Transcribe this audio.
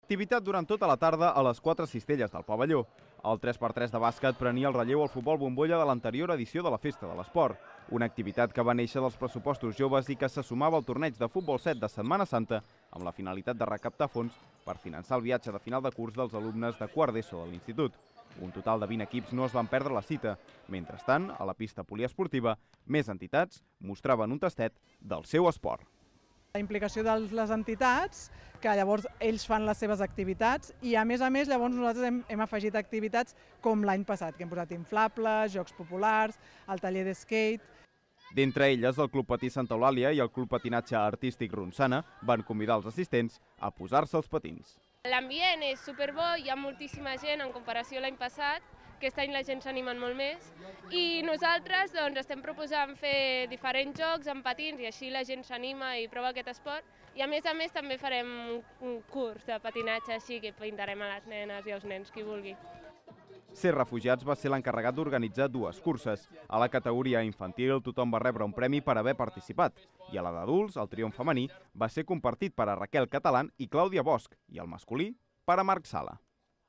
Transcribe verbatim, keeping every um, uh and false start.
Activitat durant tota la tarda a les quatre cistelles del pavelló. El tres per tres de bàsquet prenia el relleu al futbol bombolla de l'anterior edició de la Festa de l'Esport, una activitat que va néixer dels pressupostos joves i que se sumava al torneig de futbol set de Setmana Santa amb la finalitat de recaptar fons per finançar el viatge de final de curs dels alumnes de quart d'ESO de l'institut. Un total de vint equips no es van perdre la cita. Mentrestant, a la pista poliesportiva, més entitats mostraven un tastet del seu esport. La implicació de les entitats, que llavors ells fan les seves activitats i a més a més llavors nosaltres hem, hem afegit activitats com l'any passat, que hem posat inflables, jocs populars, el taller de skate. D'entre elles, el Club Patí Santa Eulàlia i el Club Patinatge Artístic Ronçana van convidar els assistents a posar-se els patins. L'ambient és superbo, hi ha moltíssima gent en comparació a l'any passat, aquest any la gent s'animen molt més i nosaltres doncs, estem proposant fer diferents jocs amb patins i així la gent s'anima i prova aquest esport i a més a més també farem un curs de patinatge així que pintarem a les nenes i als nens, qui vulgui. Ser Refugiats va ser l'encarregat d'organitzar dues curses. A la categoria infantil tothom va rebre un premi per haver participat i a la d'adults el triomf femení va ser compartit per a Raquel Catalán i Clàudia Bosch i el masculí per a Marc Sala.